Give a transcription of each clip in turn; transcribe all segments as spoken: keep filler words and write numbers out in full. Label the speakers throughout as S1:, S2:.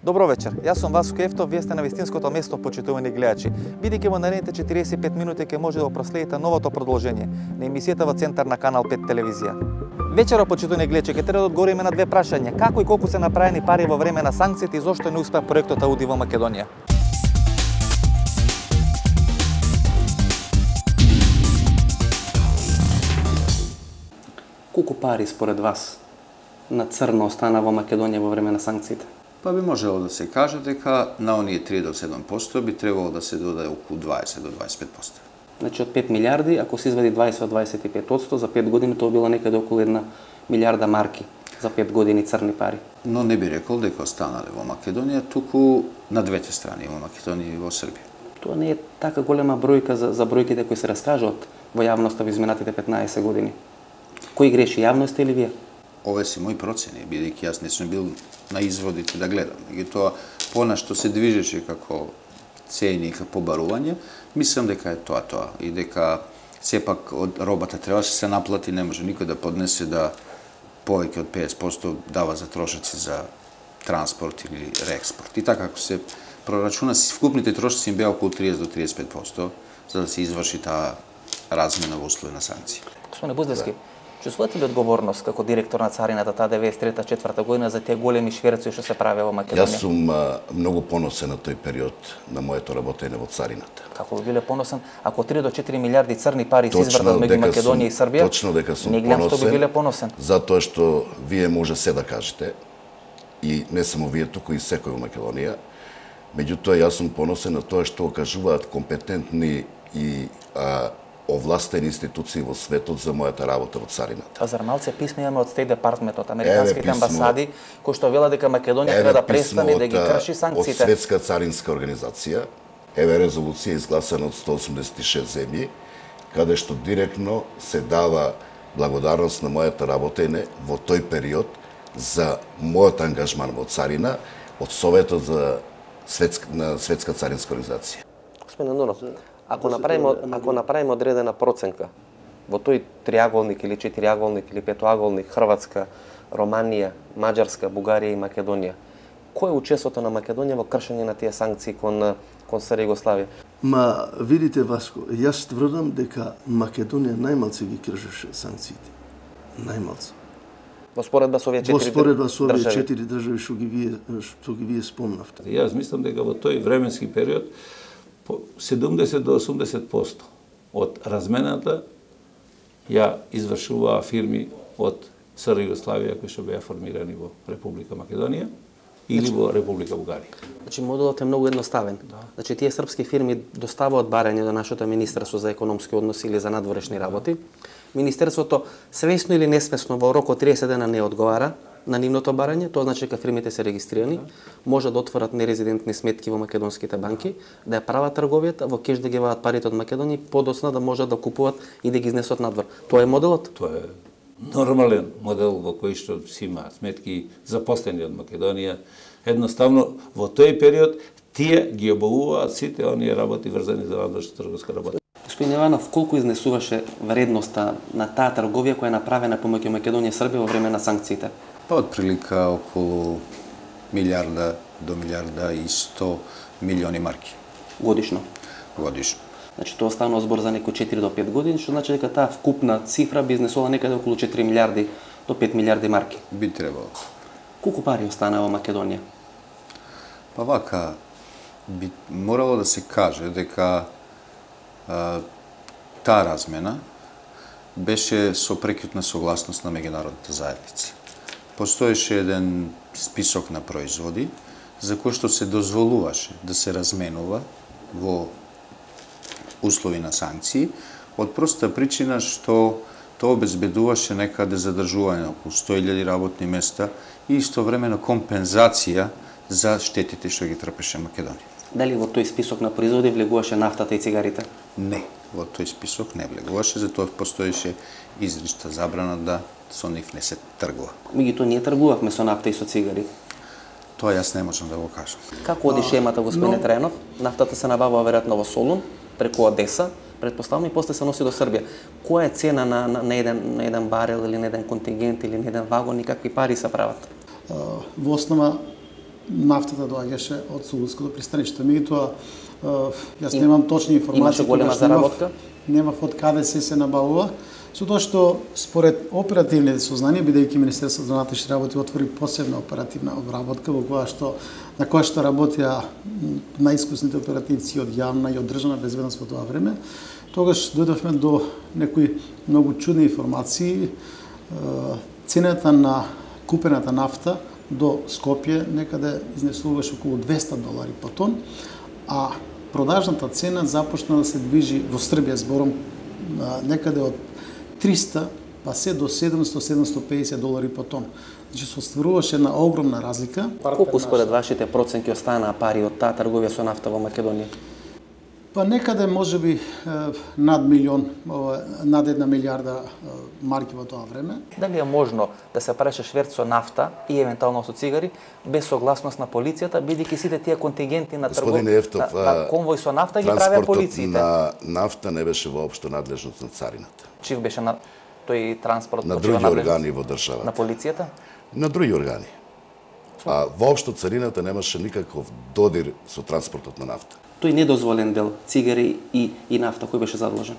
S1: Добро вечер, јас сум Васко Ефтов, вие сте на вистинското место, почитувани гледачи. Бидејќи во наредните четириесет и пет минути ќе може да проследите новото продолжение на емисијата во центар на Канал пет телевизија. Вечера, почитувани гледачи, ќе треба да одговориме на две прашања: како и колку се направени пари во време на санкциите и зошто не успеа проектот Ауди во Македонија?
S2: Колку пари според вас на црно остана во Македонија во време на санкциите?
S3: Па би можело да се каже дека на оние три до седум посто би требало да се додаде околу дваесет до дваесет и пет посто.
S2: Значи од пет милиарди, ако се извади дваесет до дваесет и пет одсто, за пет години тоа било некаде околу една милиарда марки за пет години црни пари.
S3: Но не би рекол дека останале во Македонија, туку на двете страни, во Македонија и во Србија.
S2: Тоа не е така голема бројка за, за бројките кои се раскажуваат во јавноста во изминатите петнаесет години. Кој греши, јавноста или вие?
S3: Ове се мои процени, бидејќи јас не сум бил на изводите да гледам. Меѓутоа, понашто се движеше како цени и како побарување, мислам дека е тоа тоа и дека сепак од робата требаше се наплати, не може никој да поднесе да повеќе од петдесет посто дава за трошоци за транспорт или реекспорт. И така како се прорачуна, вкупните трошоци им беа околу триесет до триесет и пет посто за да се изврши таа размена во услови на санкции.
S2: Господине Буздевски, чувствувате ли одговорност како директор на царината таа деветдесет и трета четврта година за тие големи шверци што се правеа во Македонија?
S4: Јас сум а, многу поносен на тој период на моето работење во царината.
S2: Како би биле поносен ако три до четири милиарди црни пари се извртат меѓу Македонија и Србија?
S4: Точно дека сум
S2: не гледам
S4: поносен.
S2: што би биле поносен.
S4: Затоа што вие може се да кажете и не само вие, туку и секој во Македонија. Меѓутоа јас сум поносен на тоа што кажуваат компетентни и а, овластени институции во светот за мојата работа во царината.
S2: А зар малце писма имаме од Стейт Департмент, од американските амбасади, кои што велат дека Македонија треба да престане да ги крши санкциите?
S4: Од Светска царинска организација, еве резолуција изгласана од сто осумдесет и шест земји, каде што директно се дава благодарност на мојата работење во тој период за мојот ангажман во царина од Советот за Светска, на Светска царинска организација.
S2: Господин Нуров, ако направиме ако направиме одредена проценка во тој триаголник или четириаголник или петоаголник Хрватска, Романија, Маđарска, Бугарија и Македонија, кој е учеството на Македонија во кршење на тие санкции кон кон СР Југославија?
S5: Ма видите Васко, јас тврдам дека Македонија најмалце ги кршеше санкциите. Најмалце.
S2: Во споредба со овие четири држави.
S5: Во споредба со овие четири држави што ги вие што ги вие спомнавте.
S6: Јас мислам дека во тој временски период седумдесет до осумдесет посто од размената ја извршуваа фирми од СР Југославија кои што беа формирани во Република Македонија или во Република Бугарија.
S2: Значи модулот е многу едноставен. Да. Значи тие српски фирми доставаат барање до нашето Министерство за економски односи или за надворешни работи. Министерството свесно или несвесно во рок од триесет дена не одговара на нивното барање, тоа значи дека фирмите се регистрирани, може да отворат нерезидентни сметки во македонските банки, да ја прават трговијата, во кеш да ги вадат парите од Македонија, подоцна да можат да купуваат и да ги изнесат надвор. Тоа е моделот?
S6: Тоа е нормален модел во кој што си има сметки запослени од Македонија. Едноставно во тој период тие ги обавуваат сите оние работи врзани за надворешна трговска работа.
S2: Господин Иванов, колку изнесуваше вредноста на таа трговија која е направена помеѓу Македонија и Србија во време на санкциите?
S3: Па од прилика околу милиарда до милиарда и сто милиони марки.
S2: Годишно?
S3: Годишно.
S2: Значи тоа станува збор за некои четири до пет години, што значи дека таа вкупна цифра би изнесувала некаде околу четири милиарди до пет милиарди марки.
S3: Би требало.
S2: Колку пари остана во Македонија?
S3: Па вака, би морало да се каже дека а, таа размена беше со прекјутна согласност на меѓународната заедница. Постоеше еден список на производи за кои што се дозволуваше да се разменува во услови на санкции, од проста причина што тоа обезбедуваше некаде задржување околу сто илјади работни места и истовремено компензација за штетите што ги трпеше Македонија.
S2: Дали во тој список на производи влегуваше нафтата и цигарите?
S3: Не, во тој список не влегуваше, затоа постоеше изрична забрана да со нив не се тргува.
S2: Меѓутоа ние тргувавме со нафта и со цигари.
S3: Тоа јас не можам да го кажам.
S2: Како оди шемата, господине
S5: Но...
S2: Трајанов? Нафтата се набавува веројатно во Солун, преку Одеса, предпоставам, и после се носи до Србија. Која е цена на, на, на, еден, на еден барел или на еден контингент или на еден вагон и какви пари се прават?
S7: Во основа нафтата доаѓаше од Сулуското пристаниште. Меѓутоа, јас немам точни информации.
S2: Имаше голема заработка?
S7: Немав од каде се се набавува. Со тоа што според оперативните сознанија, бидејќи Министерството за внатрешни работи отвори посебна оперативна обработка во која што на која што работеа најискусните оперативци од јавна и од државна безбедност во тоа време, тогаш дојдовме до некои многу чудни информации. Цената на купената нафта до Скопје некаде изнесуваше околу двесте долари по тон, а продажната цена започна да се движи во Србија, зборам, некаде од триста па се до седумсто до седумсто и педесет долари по тон. Значи се остваруваше една огромна разлика.
S2: Колку според вашите проценки останаа пари од таа трговија со нафта во Македонија?
S7: Па некаде можеби над милион, над една милиарда марки во тоа време.
S1: Дали е можно да се правеше шверц со нафта и евентуално со цигари без согласност на полицијата, бидејќи сите тие контингенти на тргов, на, на конвој со нафта ги правеа полициите?
S4: На нафта не беше воопшто надлежност на царината.
S1: Чив беше на тој транспорт?
S4: На други органи во државата.
S1: На полицијата?
S4: На други органи. А воопшто царината немаше никаков додир со транспортот на нафта.
S2: Тој недозволен дел, цигари и, и нафта, кој беше задолжен?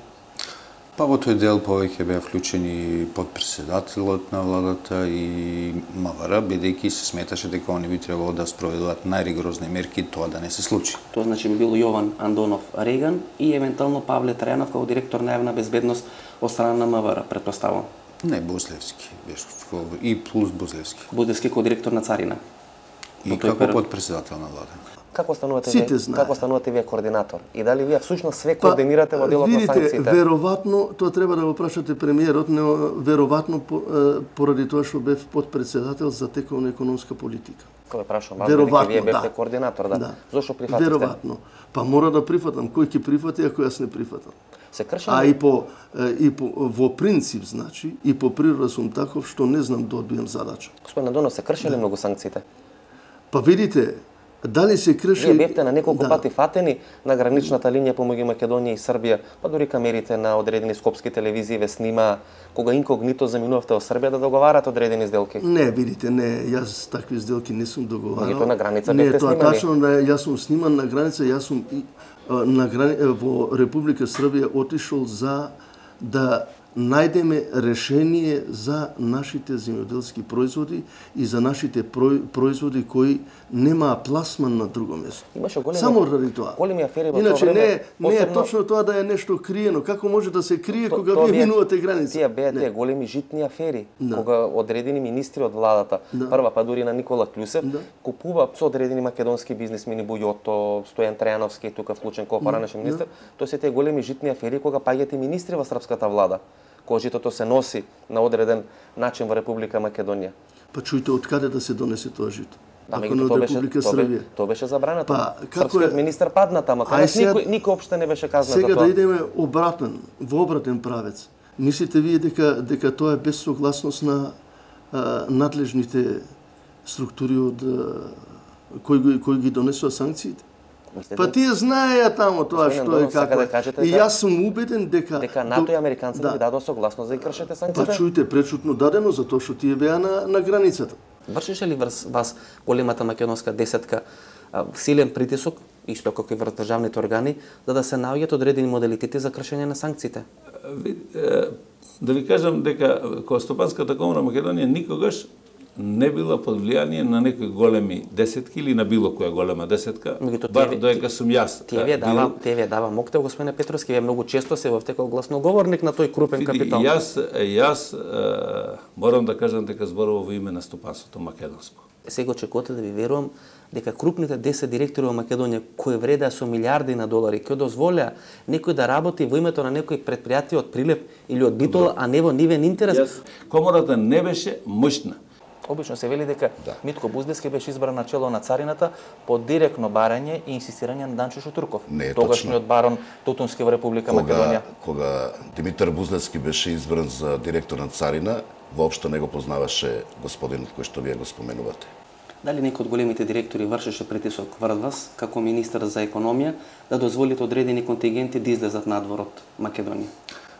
S3: Па во тој дел повеќе беа вклучени подпредседателот на владата и МВР, бидејќи се сметаше дека они би требало да спроведуваат најригорозни мерки тоа да не се случи.
S2: Тоа значи би бил Јован Андонов Реган и евентуално Павле Трајанов како директор на јавна безбедност од страна на МВР, претпоставувам.
S3: Не, Бузлевски беше и плюс Бузлевски.
S2: Бузлевски како директор на царина.
S3: И како подпредседател на влада.
S1: Како станувате вие? Како станувате вие координатор? И дали вие всушност све координирате во делот на санкциите?
S5: Видите, веројатно тоа треба да го прашате премиерот, но веројатно поради тоа што бев подпредседател за тековна економска политика.
S1: Кога прашувам, бидејќи вие бевте координатор, да. да. Зошто прифатите?
S5: Веројатно. Па мора да прифатам, кој ќе прифати ако јас не прифатам.
S1: Се крши?
S5: А и по и по во принцип, значи, и по природа сум таков што не знам да одбијам задача.
S1: Господин Андонов, се крши ли многу санкциите?
S5: Па видите, дали се крши...
S1: Вие бевте на неколку да. пати фатени на граничната линија помеѓу Македонија и Србија, па дури камерите на одредени скопски телевизии ве снима, кога инкогнито заминувавте во Србија да договарате одредени сделки.
S5: Не, видите, не, јас такви сделки не сум договарал.
S1: Меѓутоа на граница
S5: бевте
S1: снимани.
S5: Не, тоа тачно, јас сум сниман на граница, јас сум на грани... во Република Србија отишол за да најдеме решение за нашите земјоделски производи и за нашите производи кои немаа пласман на друго место.
S1: Имаше големи,
S5: само ради тоа.
S1: Големи афери во
S5: Иначе,
S1: тоа време.
S5: Иначе не,
S1: посебно...
S5: не е точно тоа да е нешто криено. Како може да се крие
S1: то,
S5: кога вие минувате граница?
S1: Тие беа тие големи житни афери,
S5: да.
S1: кога одредени министри од владата, да. прва па дури на Никола Клюсев, да. купува со одредени македонски бизнисмени Бујото, Стојан Трајановски, тука вклучен како поранешен министер, да. тоа се тие големи житни афери кога паѓате министри во српската влада. Кога житото се носи на одреден начин во Република Македонија.
S5: Па чујте, од каде да се донесе тоа жито?
S1: Да, меѓу тоа беше, тоа, тоа беше забрането.
S5: Па,
S1: Српскиот е... министер падна тама, кога никој, никој опште не беше казнат за
S5: Сега
S1: тоа.
S5: да идеме обратен, во обратен правец. Мислите вие дека дека тоа е без согласност на а, надлежните структури од а, кои, кои ги донесува санкциите?
S1: Мислите,
S5: па тие знаеја тамо тоа што е како.
S1: Да кажете,
S5: и јас сум убеден дека
S1: дека НАТО и американците да. ви дадоа согласност за да кршите санкциите.
S5: Па чујте, пречутно дадено затоа што тие беа на на границата.
S2: Вршеше ли врз вас големата македонска десетка силен притисок, исто како и врз државните органи, за да се наоѓаат одредени моделитети за кршење на санкциите?
S6: Да ви кажам дека Стопанската комора Македонија никогаш не била под влијание на некои големи десетки или на било која голема десетка, бар доека сум јас.
S2: Тие ви дава, тие ви дава моктел, господине Петровски, вие многу често се вовте како гласноговорник на тој крупен капитал.
S6: Јас, јас е, морам да кажам дека зборувам во име на стопанството македонско.
S2: Сега очекувате да ви верувам дека крупните десет директори во Македонија кои вредеа со милиарди на долари, кои дозволеа некој да работи во името на некој предпријатие од Прилеп или од Битола, а не во нивен интерес.
S6: Yes. Комората не беше мощна.
S1: Обично се вели дека да. Митко Буздевски беше избран на чело на царината по директно барање и инсистирање на Данчо Шутурков, тогашниот барон Тутунски во Република
S4: кога,
S1: Македонија.
S4: Кога Димитар Буздевски беше избран за директор на царина, воопшто не го познаваше господинот кој што вие го споменувате.
S2: Дали некој од големите директори вршеше притисок врз вас, како министер за економија, да дозволите одредени контингенти да излезат надвор од Македонија?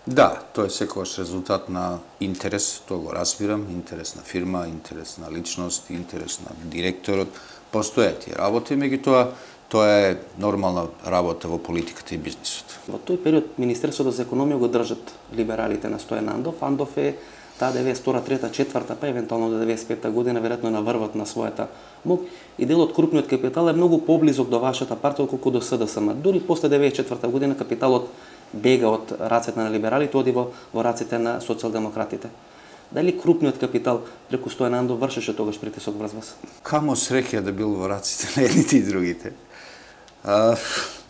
S3: Да, тоа е секогаш резултат на интерес, тоа го разбирам, интерес на фирма, интерес на личност, интерес на директорот, постојат тие работи, меѓутоа тоа е нормална работа во политиката и бизнисот.
S2: Во тој период Министерството за економија го држат либералите на Стојан Андов. Андов е таа деветдесет и втора, трета, четврта, па евентуално до деветдесет и пета година веројатно на врвот на својата мок и дел од крупниот капитал е многу поблизок до вашата партија отколку до СДСМ. Дури после деветдесет и четврта година капиталот бега од рацете на либералите, оди во, во рацете на социјалдемократите. Дали крупниот капитал преку Стојан Андов вршеше тогаш притисок врз вас?
S3: Камо среќа да бил во раците на едните и другите. А,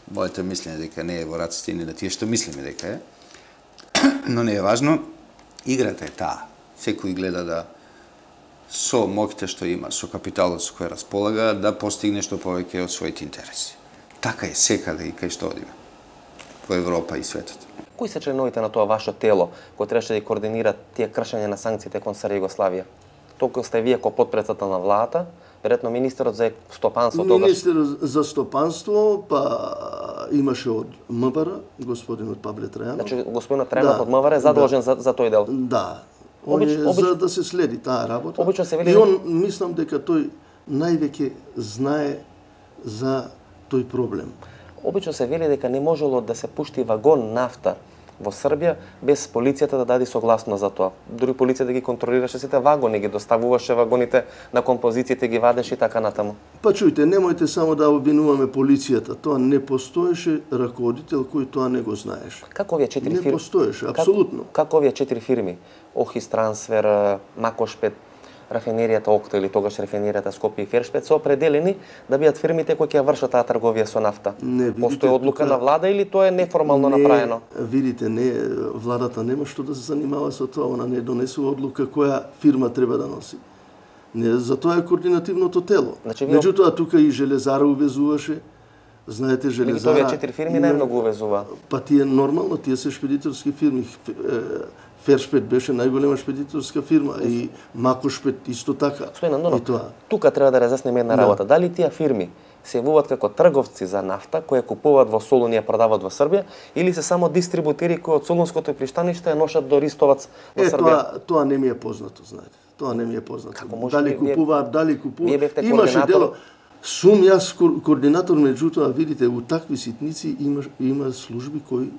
S3: моето мислење дека не е во раците ни на тие што мислиме дека е. Но не е важно. Играта е таа. Секој гледа да со моќите што има, со капиталот со кој располага, да постигне што повеќе од своите интереси. Така е секаде и кај што одиме. Во Европа и светот.
S2: Кои се членовите на тоа ваше тело кои требаше да координира тие кршење на санкциите кон СР Југославија? Толку сте вие ко потпредседател на владата, веројатно министерот за стопанство тогаш.
S5: Министерот за стопанство, па имаше од МВР, господинот Павле Трајанов.
S2: Значи господинот Трајанов да, од МВР е задолжен да, за, за тој дел.
S5: Да. Он
S2: Обич,
S5: е
S2: обич...
S5: за да се следи таа работа.
S2: Обично се вели...
S5: И он мислам дека тој највеќе знае за тој проблем.
S2: Обично се вели дека не можело да се пушти вагон нафта во Србија без полицијата да даде согласност за тоа. Дури полицијата ги контролираше сите вагони, ги доставуваше вагоните на композициите, ги вадеше и така натаму.
S5: Па чујте, немојте само да обвинуваме полицијата. Тоа не постоеше раководител кој тоа не го знаеше.
S2: Како овие четири фирми?
S5: Не постоеше, апсолутно.
S2: Как, како овие четири фирми? Охис Трансфер, Макошпет, рафинеријата Окта или тогаш рафинеријата Скопје и Фершпет се определени да бидат фирмите кои ќе вршат таа трговија со нафта.
S5: Не, видите,
S2: постои одлука
S5: тука...
S2: на влада или тоа е неформално
S5: не,
S2: направено?
S5: Видите, не, владата нема што да се занимава со тоа, она не донесува одлука која фирма треба да носи. Не, за тоа е координативното тело. Значи, вие... Меѓутоа тука и Железара увезуваше. Знаете, Железара...
S2: Овие четири фирми има... најмногу увезува.
S5: Па тие нормално, тие се шпедиторски фирми. Фершпет беше најголема шпедиторска фирма и Макошпет исто така.
S2: Господине Андонов,
S5: и тоа.
S2: Тука треба да разјасниме една работа. Да. Дали тие фирми се јавуваат како трговци за нафта кои купуваат во Солун и ја продаваат во Србија или се само дистрибутери кои од Солунското пристаниште ја ношат до Ристовац во
S5: е,
S2: Србија?
S5: Тоа, тоа не ми е познато, знаете. Тоа не ми е познато.
S2: Како може
S5: дали
S2: вие,
S5: купуваат, дали купуваат.
S2: Вие бевте
S5: Имаше
S2: координатор...
S5: дело. Сум јас координатор, меѓутоа видите, у такви ситници има има служби кои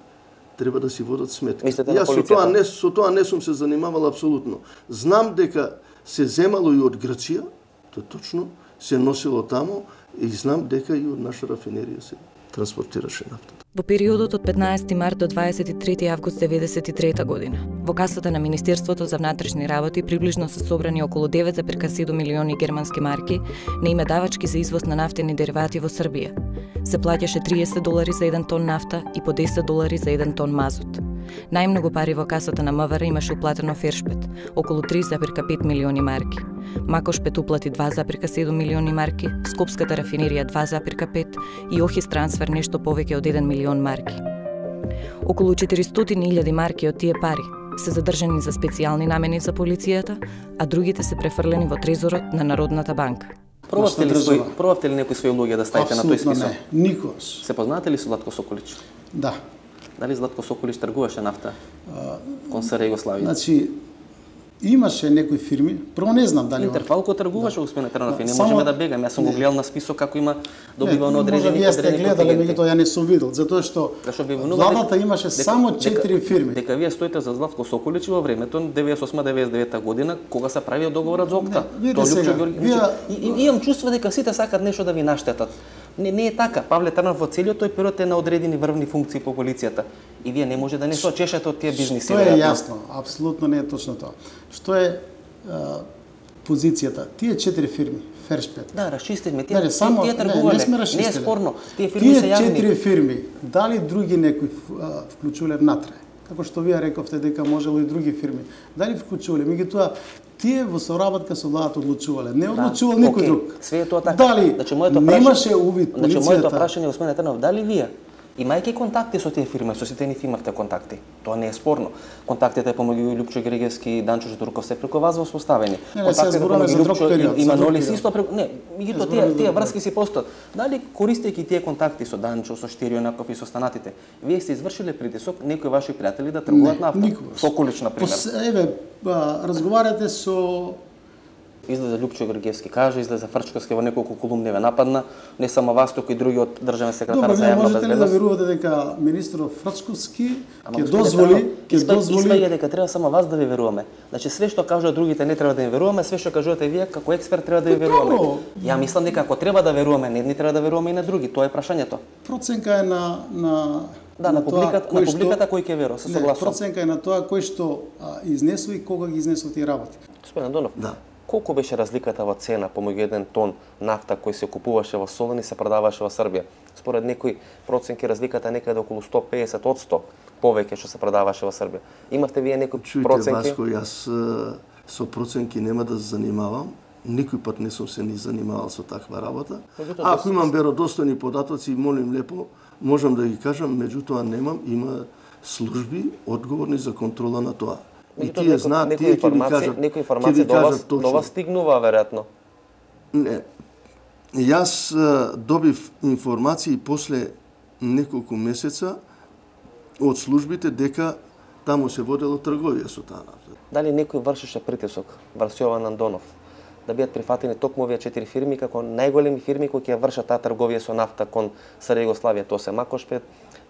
S5: треба да си водат сметка.
S2: Мислите
S5: Јас
S2: на
S5: со тоа не со тоа не сум се занимавал апсолутно. Знам дека се земало и од Грција, тоа точно, се носило тамо и знам дека и од наша рафинерија се транспортираше нафтата.
S8: Во периодот од петнаесети март до дваесет и трети август деветдесет и трета година, во касата на Министерството за внатрешни работи приближно се собрани околу девет зарез седум милиони германски марки на име давачки за извоз на нафтени деривати во Србија. Се плаќаше триесет долари за еден тон нафта и по десет долари за еден тон мазут. Најмногу пари во касата на МВР имаше уплатено Фершпет, околу три зарез пет милиони марки. Макошпет уплати два зарез седум милиони марки, Скопската рафинерија два зарез пет и Охис Трансфер нешто повеќе од еден милион марки. Околу четиристотини илјади марки од тие пари се задржани за специјални намени за полицијата, а другите се префрлени во трезорот на Народната банка.
S2: Пробавте ли, свој, пробавте ли некои своји луѓе да ставите на тој список?
S7: Апсолутно не, никош.
S2: Се познаете ли со Златко Соколич?
S7: Да.
S2: Дали Златко Соколич тргуваше нафта кон СР Југославија?
S7: Значи, имаше некои фирми, прво не знам дали...
S2: Интерфалко тргуваше, господин Трајанов, и не можеме да бегаме. Јас сум го гледал на список како има добива на одредени
S7: контингенти. Може вие сте гледали, меѓутоа ја не сум видел, затоа што владата имаше само четири фирми.
S2: Дека вие стоите за Златко Соколич во времето деветдесет и осма деветдесет и девета година кога се правио договорот за Окта.
S7: Тоа сега,
S2: вие... Имам чувство дека сите сакат нешто да ви наштетат. Не, не е така. Павле Трајанов во целиот тој период е на одредени врвни функции по полицијата. И вие не може да не се очешете од тие бизниси.
S7: Тоа е јасно, апсолутно не е точно тоа. Што е а, позицијата? Тие четири фирми, Фершпет.
S2: Да, расчистивме. Тие,
S7: не, само,
S2: тие тргувале.
S7: Не, не сме
S2: не е спорно. Тие фирми
S7: тие
S2: се јавни.
S7: Тие четири фирми, дали други некои вклучувале внатре? Како што вие рековте дека можело и други фирми. Дали вклучувале? Меѓутоа, тие во соработка со владата одлучувале. Не одлучувал да, никој
S2: okay.
S7: друг.
S2: Све е тоа така.
S7: Дали
S2: значи, моето
S7: немаше увид полицијата?
S2: Значи, моето прашање, господин Трајанов, дали вие имајќи контакти со тие фирми, со сите нив имавте контакти? Тоа не е спорно. Контактите помеѓу Лјупчо Григевски и Данчо Житурков се преку вас воспоставени.
S7: Контактите помеѓу Лјупчо
S2: и Манолис исто преку... Не, меѓутоа тие, тие врски си постојат. Дали користејќи тие контакти со Данчо, со Штирионаков и со станатите, вие сте извршиле притисок некои ваши пријатели да тргуваат нафта?
S7: Никогаш.
S2: Соколич, например.
S7: Еве, разговарате со
S2: Излезе Лјупчо Георгиевски кажа, излезе Фрчковски во неколку колумни ве нападна, не само вас, туку и други од државен секретар за јавна безбедност.
S7: Можете ли да верувате дека министерот Фрчковски ќе дозволи, ќе дозволи
S2: Испаѓа дека треба само вас да ви веруваме. Значи све што кажуваат другите не треба да им веруваме, све што кажувате вие како експерт треба да ви веруваме. Ја мислам дека ако треба да веруваме на едни, треба да веруваме и на други. Тоа е прашањето.
S7: Проценка е на на
S2: Да, на, на публиката, на публиката кој ќе верува, се согласувам.
S7: Проценка е на тоа кој што а, изнесува и кога ги изнесува тие работи.
S2: Господин Андонов,
S5: да.
S2: Колку беше разликата во цена помеѓу еден тон нафта кој се купуваше во Солун и се продаваше во Србија? Според некои проценки разликата некаде околу сто песет одсто повеќе што се продаваше во Србија. Имавте вие некои проценки?
S5: Чујте, Васко, јас со проценки нема да се занимавам. Никој пат не сум се ни занимавал со таква работа. А ако имам веродостојни податоци, молим лепо, можам да ги кажам, меѓутоа немам, има служби одговорни за контрола на тоа. И тие знаат, тие ќе ви кажат,
S2: некои информации до вас, до вас стигнува веројатно.
S5: Не. Јас добив информации после неколку месеца од службите дека таму се водело трговија со таа нафта.
S2: Дали некој вршеше притисок врз Јован Андонов да бидат прифатени токму овие четири фирми како најголеми фирми кои ќе вршат таа трговија со нафта кон СР Југославија? Тоа се Макошпет,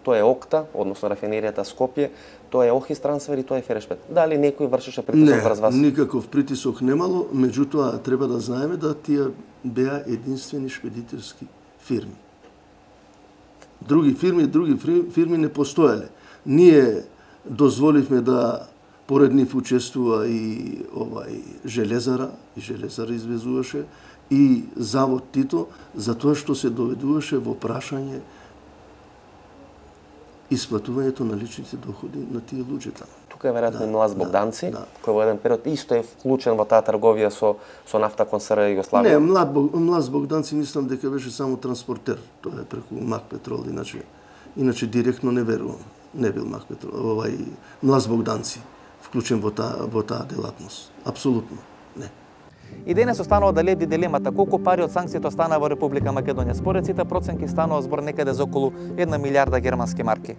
S2: тоа е Окта, односно рафинеријата Скопје, тоа е Охис Трансфер и тоа е Ферешпет. Дали некој вршеше притисок врз вас?
S5: Не, никаков притисок немало, меѓутоа треба да знаеме да тие беа единствени шпедитерски фирми. Други фирми, други фирми не постоеле. Ние дозволивме да поред нив учествува и овај Железара, и Железара извезуваше, и Завод Тито, затоа што се доведуваше во прашање исплатувањето на личните доходи на тие луѓето.
S2: Тука е веројатно
S5: да,
S2: Млаз Богданци,
S5: да, да.
S2: кој во еден период исто е вклучен во таа трговија со со нафта кон СР Југославија.
S5: Не, Млад Млаз Богданци мислам дека беше само транспортер, тоа е преку Мак Петрол, иначе иначе директно не верувам. Не бил Мак Петрол, овај Млаз Богданци вклучен во таа во таа делатност. Апсолутно не.
S1: И денес останува да лебди дилемата колку пари од санкциите останаа во Република Македонија. Според сите проценки станува збор некаде за околу една милијарда германски марки.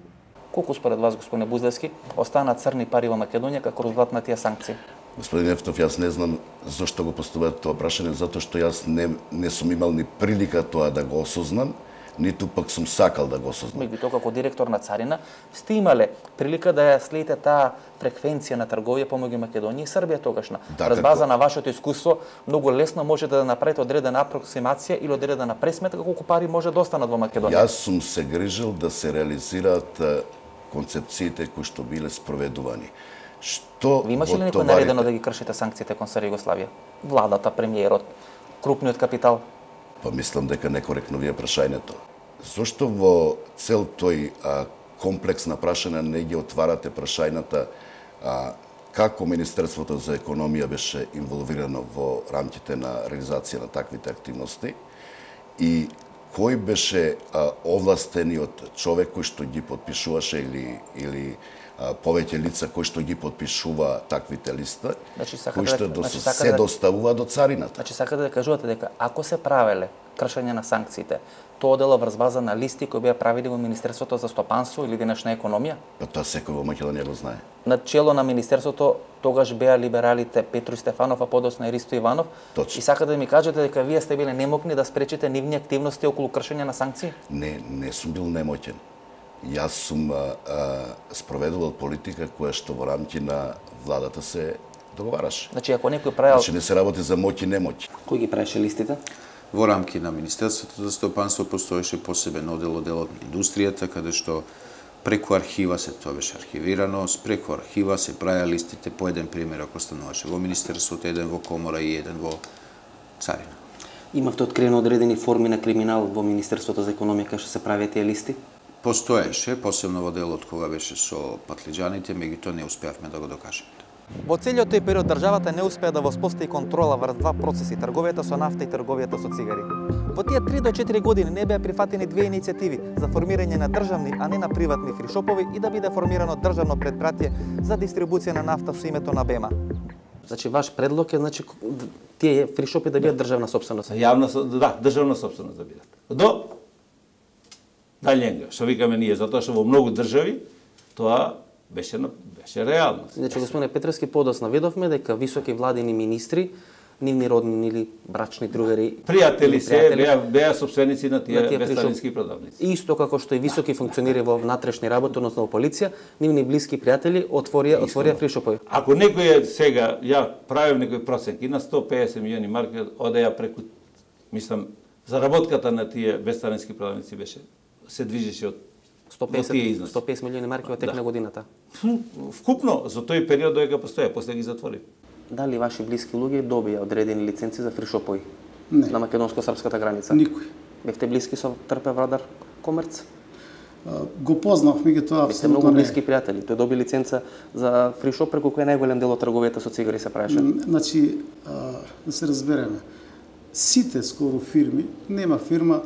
S1: Колку според вас, господине Буздевски, останаа црни пари во Македонија како резултат на тие санкции?
S4: Господин Ефтов, јас не знам зошто го поставуваат тоа прашање, затоа што јас не не сум имал ни прилика тоа да го осознам, ниту пак сум сакал да го осознам.
S1: Меѓутоа, како директор на царина, сте имале прилика да ја следите таа фреквенција на трговија помеѓу Македонија и Србија тогашна.
S4: Да,
S1: Врз база
S4: како...
S1: на вашето искуство, многу лесно можете да направите одредена апроксимација или одредена пресметка колку пари може да останат во Македонија.
S4: Јас сум се грижил да се реализираат концепциите кои што биле спроведувани. Што
S1: Ви имаше ли некој
S4: товарите...
S1: наредено да ги кршите санкциите кон СР Југославија? Владата, премиерот, крупниот капитал?
S4: Па мислам дека некоректно ви е прашањето. Зошто во цел тој а, комплекс на прашања не ги отварате прашањата а, како Министерството за економија беше инволвирано во рамките на реализација на таквите активности и кој беше а, овластениот човек кој што ги подпишуваше или или а, повеќе лица кои што ги подпишува таквите листа,
S1: значи,
S4: кои што
S1: да,
S4: до,
S1: значи,
S4: се
S1: да,
S4: доставува до царината.
S1: Значи сакате да кажувате дека ако се правеле кршење на санкциите, тоа дела врз база на листи кои беа правили во Министерството за стопанство или денешна економија?
S4: Па тоа секој во Македонија го знае.
S1: На чело на Министерството тогаш беа либералите Петру Стефанов, а подоцна и Ристо Иванов.
S4: Точно.
S1: И сакате да ми кажете дека вие сте биле немокни да спречите нивни активности околу кршење на санкции?
S4: Не, не сум бил немоќен. Јас сум а, а, спроведувал политика која што во рамки на владата се договараше.
S1: Значи ако некој правел...
S4: Значи не се работи за моќ и немоќ.
S2: Кој ги правеше листите?
S3: Во рамки на Министерството за стопанство постоеше посебен оддел, оддел од индустријата, каде што преку архива се тоа беше архивирано, преку архива се правеа листите по еден пример, ако стануваше во Министерството, еден во Комора и еден во Царина.
S2: Имавте откриено одредени форми на криминал во Министерството за економија кај што се правеа тие листи?
S3: Постоеше, посебно во делот кога беше со патлиџаните, меѓутоа не успеавме да го докажеме.
S1: Во целиот тој период државата не успеа да воспостави контрола врз два процеси, трговијата со нафта и трговијата со цигари. Во тие три до четири години не беа прифатени две иницијативи за формирање на државни, а не на приватни фришопови и да биде формирано државно предпратие за дистрибуција на нафта со името на БЕМА.
S2: Значи ваш предлог е значи тие фришопи да бидат државна собственост.
S6: Јавна, да, државна собственост да бидат. До далјенга, што викаме ние, затоа што во многу држави тоа беше беше реалност.
S2: Значи господине Петревски, подоцна видовме дека високи владини министри нивни роднини или брачни другари.
S6: Пријатели се, беа, беа собственици на тие, тие весталински продавници.
S2: Исто како што и високи функционери во внатрешни работи, односно во полиција, нивни блиски пријатели отворија отворија фришопови.
S6: Ако некој е сега, ја правев некој проценки на сто песет милиони марки, одеја преку, мислам, заработката на тие весталински продавници беше, се движеше од
S2: сто песет милиони марки во тек на годината.
S6: Вкупно, за тој период доека постоја, после ги затвори.
S2: Дали ваши блиски луѓе добија одредени лиценци за фришопови
S7: Не.
S2: на македонско-српската граница?
S7: Никој.
S2: Бевте блиски со Трпе Врадар Комерц?
S7: Го познав, меѓутоа
S2: Бевте многу
S7: апсолутно не.
S2: блиски пријатели. Тој доби лиценца за фришоп преку кој најголем дел од трговијата со цигари се правеше.
S7: Значи, да се разбереме, сите скоро фирми, нема фирма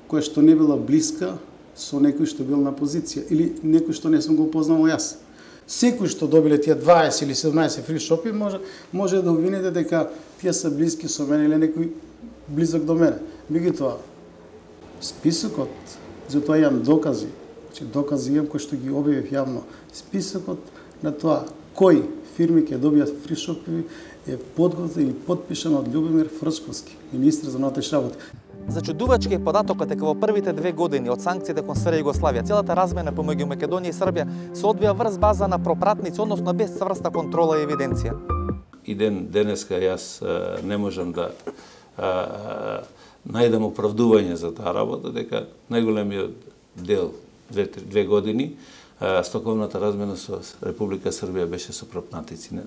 S7: која што не била блиска со некој што бил на позиција или некој што не сум го познавал јас. Секој што добиле тие дваесет или седумнаесет фри шопи може може да обвините дека тие се блиски со мене или некој близок до мене. Меѓутоа, списокот, затоа имам докази, значи докази имам кои што ги објавив јавно. Списокот на тоа кои фирми ќе добијат фри шопи е подготвен и подпишан од Љубомир Фрчковски, министар за внатрешни работи.
S1: Зачудувачки е податокот дека во првите две години од санкциите кон СР Југославија целата размена помеѓу Македонија и Србија се одвија врз база на пропратници, односно без цврста контрола и евиденција.
S6: И ден денеска јас а, не можам да а, најдам оправдување за таа работа, дека најголемиот дел две, две години а, стоковната размена со Република Србија беше со пропратници, не,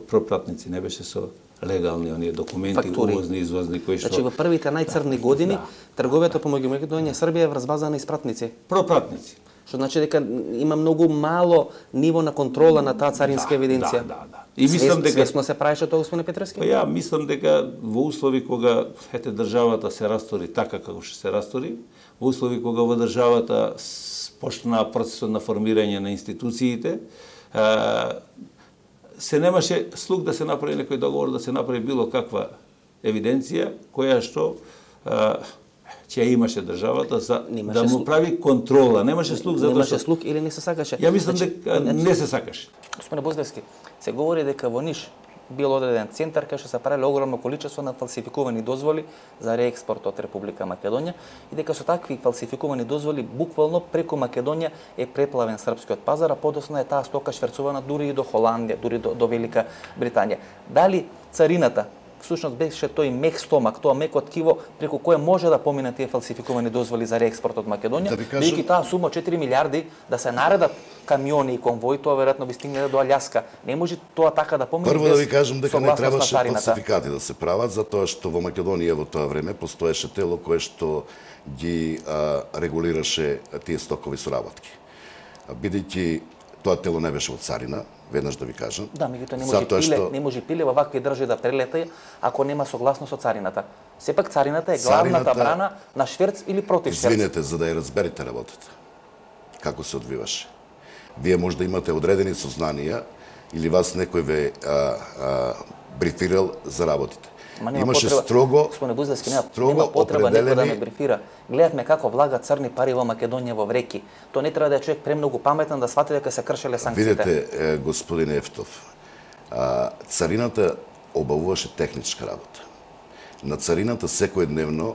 S6: пропратници, не беше со легални оние документи,
S2: Фактури.
S6: увозни, извозни, кои што...
S2: Значи во првите најцрни години
S6: Да.
S2: трговијата помеѓу Македонија и Србија е врз база на испратници.
S6: Пропратници.
S2: Што значи дека има многу мало ниво на контрола на таа царинска евиденција.
S6: Да, да, да. И мислам дека
S2: свесно се правеше тоа, господине Петревски?
S6: Па ја мислам дека во услови кога ете државата се растори така како што се растори, во услови кога во државата почна процесот на формирање на институциите, а, се немаше слух да се направи некој договор, да се направи било каква евиденција која што а, ќе имаше државата за
S2: Немаше
S6: да му
S2: слух.
S6: прави контрола. Немаше слух затоа
S2: Немаше
S6: што
S2: слух или не се сакаше?
S6: ја мислам
S2: Значи,
S6: дека не се сакаше.
S2: Господине Буздевски, се говори дека во Ниш бил одреден центар кај што се правеле огромно количество на фалсификувани дозволи за реекспорт од Република Македонија и дека со такви фалсификувани дозволи буквално преку Македонија е преплавен српскиот пазар, а подоцна е таа стока шверцувана дури и до Холандија, дури до, до Велика Британија. Дали царината всушност беше тој мек стомак, тоа меко ткиво преку кое може да поминат тие фалсификувани дозволи за реекспорт од Македонија,
S4: Да ви кажам-
S2: бидејќи таа сума четири милиарди да се наредат камиони и конвои, тоа веројатно би стигнале до Аљаска. Не може тоа така да помине
S4: Прво
S2: без
S4: да ви кажам дека не
S2: согласност на
S4: требаше
S2: царината.
S4: фалсификати да се прават, затоа што во Македонија во тоа време постоеше тело кое што ги а, регулираше тие стокови соработки. А, Бидејќи тоа тело не беше од царина, веднаш да ви кажам.
S2: Да, меѓутоа не може
S4: затоа
S2: пиле,
S4: што
S2: не може пиле во вакви држави да прелета ако нема согласност со царината. Сепак царината е главната
S4: Царината-
S2: брана на шверц или против шверц.
S4: Извинете, за да ја разберете работата. Како се одвиваше. Вие може да имате одредени сознанија или вас некој ве а, а, брифирал за работите.
S2: Ма нема
S4: Имаше
S2: потреба,
S4: строго,
S2: господине Буздевски, нема,
S4: строго
S2: нема потреба некој да ме
S4: определени
S2: брифира. Гледавме како влага црни пари во Македонија во вреки. Тоа не треба да е човек премногу паметен да свати дека се кршеле санкциите.
S4: Видете, е, господин Ефтов, а, царината обавуваше техничка работа. На царината секојдневно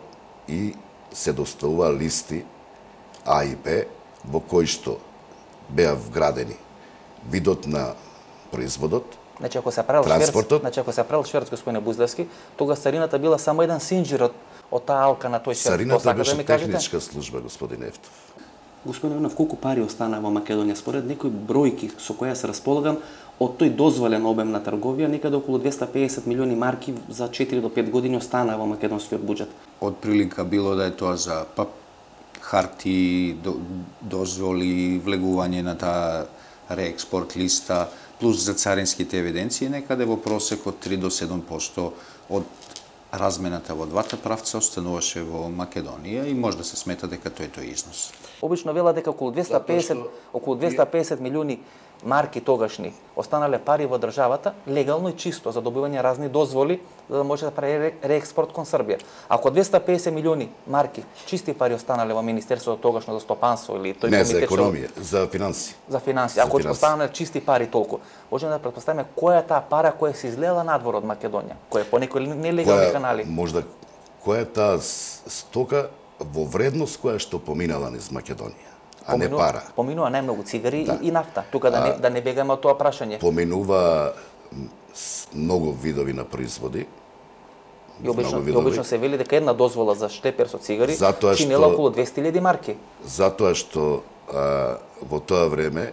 S4: и се доставува листи А и Б во кои што беа вградени видот на производот,
S2: Значи ако се правил шверц,
S4: транспортот.
S2: значи ако се правил шверц, господине Буздевски, тогаш царината била само еден синџир од, од таа алка на тој шверц. Тоа
S4: царината
S2: сакате да
S4: беше
S2: ми кажете?
S4: техничка служба, господин Ефтов.
S2: Господин Иванов, колку пари остана во Македонија? Според некои бројки со која се располагам, од тој дозволен обем на трговија, некаде околу двесте и педесет милиони марки за четири до пет години остана во македонскиот буџет.
S3: Од прилика било да е тоа за па, харти, до, дозволи, влегување на таа реекспорт листа, плюс за царинските евиденции, некаде во просек од три до седум проценти од размената во двата правца остануваше во Македонија и може да се смета дека тој е тој износ.
S2: Обично велат дека околу двеста и песет, околу двеста и песет милиони марки тогашни останале пари во државата легално и чисто за добивање разни дозволи за да може да прави реекспорт кон Србија. Ако двеста и песет милиони марки чисти пари останале во министерството тогашно за стопанство или тој
S4: не
S2: комитет
S4: за економија, за финанси.
S2: За финанси. Ако останале чисти пари толку, можеме да претпоставиме која е таа пара која се излела надвор од Македонија, која по некои нелегални канали.
S4: Можда која е таа стока во вредност која што поминала низ Македонија, а не пара.
S2: Поминува најмногу цигари
S4: да.
S2: и, и нафта. Тука да не, да не бегаме од тоа прашање.
S4: Поминува многу видови на производи.
S2: И обично, и обично се вели дека една дозвола за штепер со цигари
S4: затоа
S2: чинела
S4: што,
S2: околу двесте илјади марки.
S4: Затоа што а, во тоа време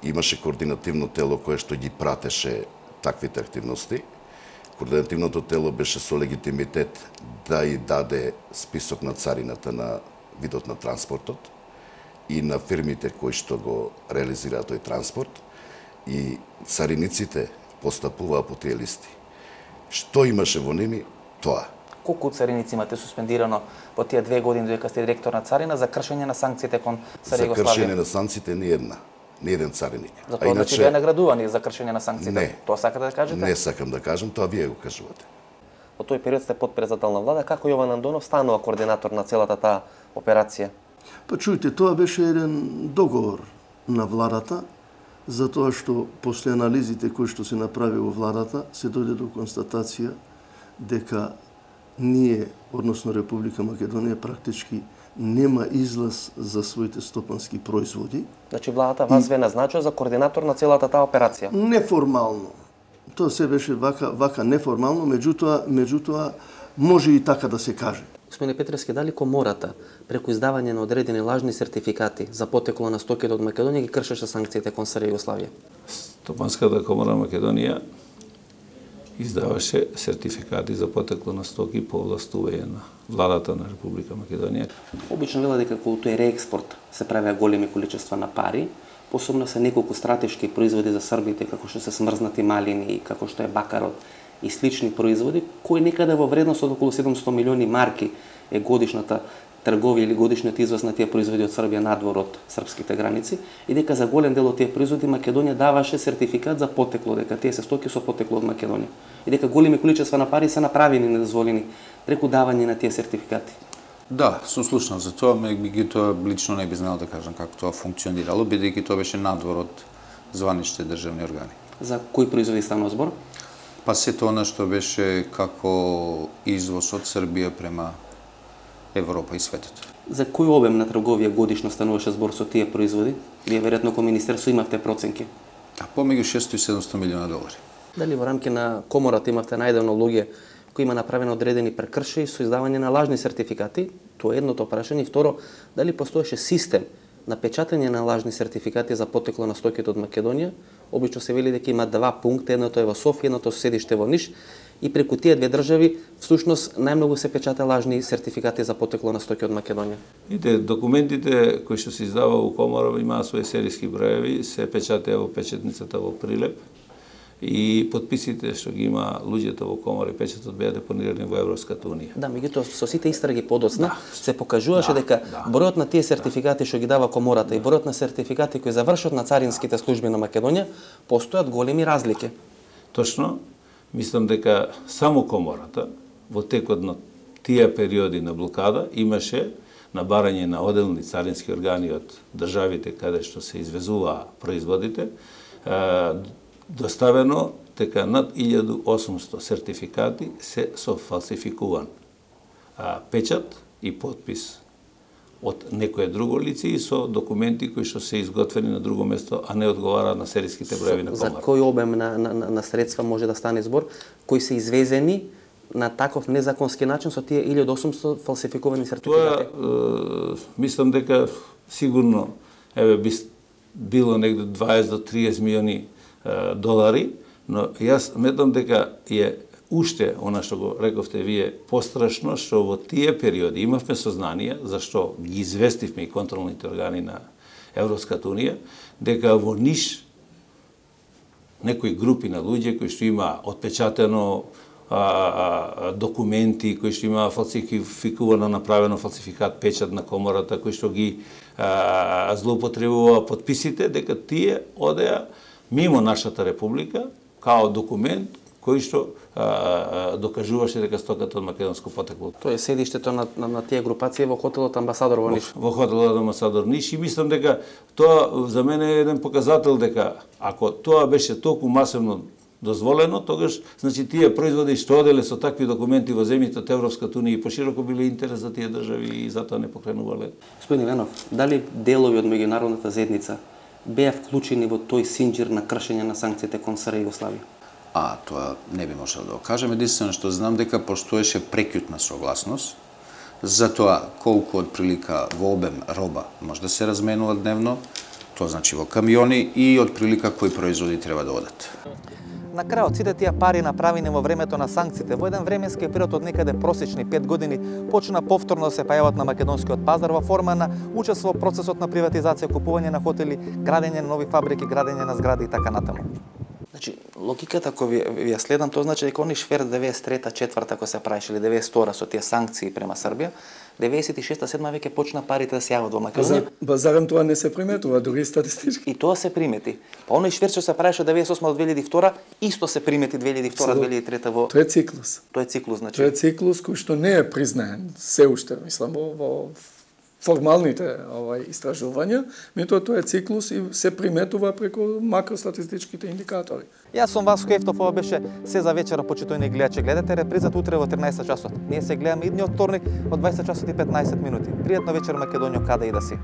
S4: имаше координативно тело кое што ги пратеше таквите активности. Координативното тело беше со легитимитет да и даде список на царината на видот на транспортот и на фирмите кои што го реализираат тој транспорт, и цариниците постапуваа по тие листи. Што имаше во ними, тоа.
S2: Колку цариници имате суспендирано во тие две години додека сте директор на царина за кршење на санкциите кон Цар Југославија?
S4: За кршење на санкциите ни една, ни еден цариник.
S2: Затоа иначе беа наградувани за кршење на санкциите.
S4: Не.
S2: Тоа сакате да кажете?
S4: Не сакам да кажам, тоа вие го кажувате.
S2: Во тој период сте подпредседател на влада, како Јован Андонов станува координатор на целата таа операција?
S5: Па чујте, тоа беше еден договор на владата, затоа што после анализите кои што се направи во владата, се дојде до констатација дека ние, односно Република Македонија, практички нема излаз за своите стопански производи.
S2: Значи владата вас ве назначува за координатор на целата таа операција?
S5: Неформално. Тоа се беше вака, вака неформално, меѓутоа, меѓутоа може и така да се каже.
S2: Господине Петревски, дали комората преку издавање на одредени лажни сертификати за потекло на стоките од Македонија ги кршеше санкциите кон Цар Југославија?
S6: Стопанската комора Македонија издаваше сертификати за потекло на стоки по овластување на владата на Република Македонија.
S2: Обично вела дека кога тој реекспорт се правеа големи количества на пари, посебно се неколку стратешки производи за србите, како што се смрзнати малини, како што е бакарот и слични производи, кои некаде во вредност од околу седумстотини милиони марки е годишната трговија или годишниот извоз на тие производи од Србија надвор од српските граници, и дека за голем дел од тие производи Македонија даваше сертификат за потекло, дека тие се стоки со потекло од Македонија. И дека големи количества на пари се направени недозволени преку давање на тие сертификати.
S3: Да, сум слушнал за тоа, меѓутоа лично не би знал да кажам како тоа функционирало, бидејќи тоа беше надвор од званичните државни органи.
S2: За кои производи станува збор?
S3: Па сето она што беше како извоз од Србија према Европа и светот.
S2: За кој обем на трговија годишно стануваше збор со тие производи? Вие веројатно како министерство имавте проценки.
S3: Да, помеѓу шестстотини и седумстотини милиона долари.
S2: Дали во рамки на комората имавте најдено луѓе кои има направено одредени прекршаи со издавање на лажни сертификати? Тоа е едното прашање. И второ, дали постоеше систем на печатање на лажни сертификати за потекло на стоките од Македонија? Обично се вели дека има два пункта, едното е во Софија, едното со седиште во Ниш, и преку тие две држави всушност најмногу се печата лажни сертификати за потекло на стоки од Македонија.
S6: Ите документите кои што се издава во комора имаат своји серијски броеви, се печатеа во печатницата во Прилеп, и подписите што ги има луѓето во комора и печатот беа депонирани во Европската унија.
S2: Да, меѓутоа со сите истраги подоцна
S6: да.
S2: се покажуваше
S6: да,
S2: дека
S6: да.
S2: бројот на тие сертификати што ги дава комората и бројот на сертификати кои завршат на царинските служби на Македонија постојат големи разлики.
S6: Точно, мислам дека само комората во текот на тие периоди на блокада имаше на барање на одделни царински органи од државите каде што се извезуваа производите, доставено дека над илјаду и осумсто сертификати се со фалсификуван а, печат и подпис од некое друго лице и со документи кои што се изготвени на друго место, а не одговараат на сериските броеви на комора.
S2: За кој обем на, на, на средства може да стане збор, кои се извезени на таков незаконски начин со тие илјада и осумсто фалсификувани сертификати?
S6: Тоа, е, мислам дека сигурно еве би било негде дваесет до триесет милиони е, долари, но јас сметам дека е уште, она што го рековте вие, пострашно што во тие периоди имавме сознание, зашто ги известивме и контролните органи на Европската унија, дека во Ниш некои групи на луѓе кои што има отпечатено а, а, документи кои што имаа фалсификувано направено фалсификат печат на комората, кои што ги а, злоупотребува подписите, дека тие одеа мимо нашата република као документ кој што а, а, докажуваше дека стоката од македонско потекло.
S2: Тоа е седиштето на, на, на тие групации во хотелот Амбасадор во Ниш.
S6: Во, во хотелот Амбасадор Ниш и мислам дека тоа за мене е еден показател дека ако тоа беше толку масивно дозволено, тогаш значи тие производи што оделе со такви документи во земјите од Европската унија и пошироко биле интерес за тие држави и затоа не покренувале.
S2: Господин Ленов, дали делови од меѓународната заедница беа вклучени во тој синџир на кршење на санкциите кон СР Југославија?
S3: А, тоа не би можел да го кажем. Единствено што знам дека постоеше прекјутна согласност за тоа колку од прилика во обем роба може да се разменува дневно, тоа значи во камиони и од прилика кои производи треба да одат.
S1: На крајот сите тие пари направени во времето на санкциите во еден временски период од некаде просечни пет години почна повторно да се појават на македонскиот пазар во форма на учество во процесот на приватизација, купување на хотели, градење на нови фабрики, градење на згради и така натаму.
S2: Значи, логиката која ви, ви ја следам, тоа значи дека они швер деветдесет и трета четврта кој се правеше или деветдесет и втора со тие санкции према Србија, деветдесет и шеста седма веќе почна парите да се јават во Македонија.
S9: Ба зарем тоа не се приметува, дури статистички.
S2: И тоа се примети. Па оној швер што се правеше од деветдесет и осма до две илјади и втора, исто се примети две илјади и втора до две илјади и трета во...
S9: Тоа е циклус.
S2: Тоа е циклус, значи.
S9: Тоа е циклус кој што не е признаен се уште, мислам, во, во формалните овај истражувања, меѓутоа тоа е циклус и се приметува преку макростатистичките индикатори.
S1: Јас сум Васко Ефтов, ова беше се за вечера, почитувани гледачи. Гледате репризат утре во тринаесет часот. Ние се гледаме идниот вторник од дваесет часот и петнаесет минути. Пријатно вечер, Македонија, каде и да си.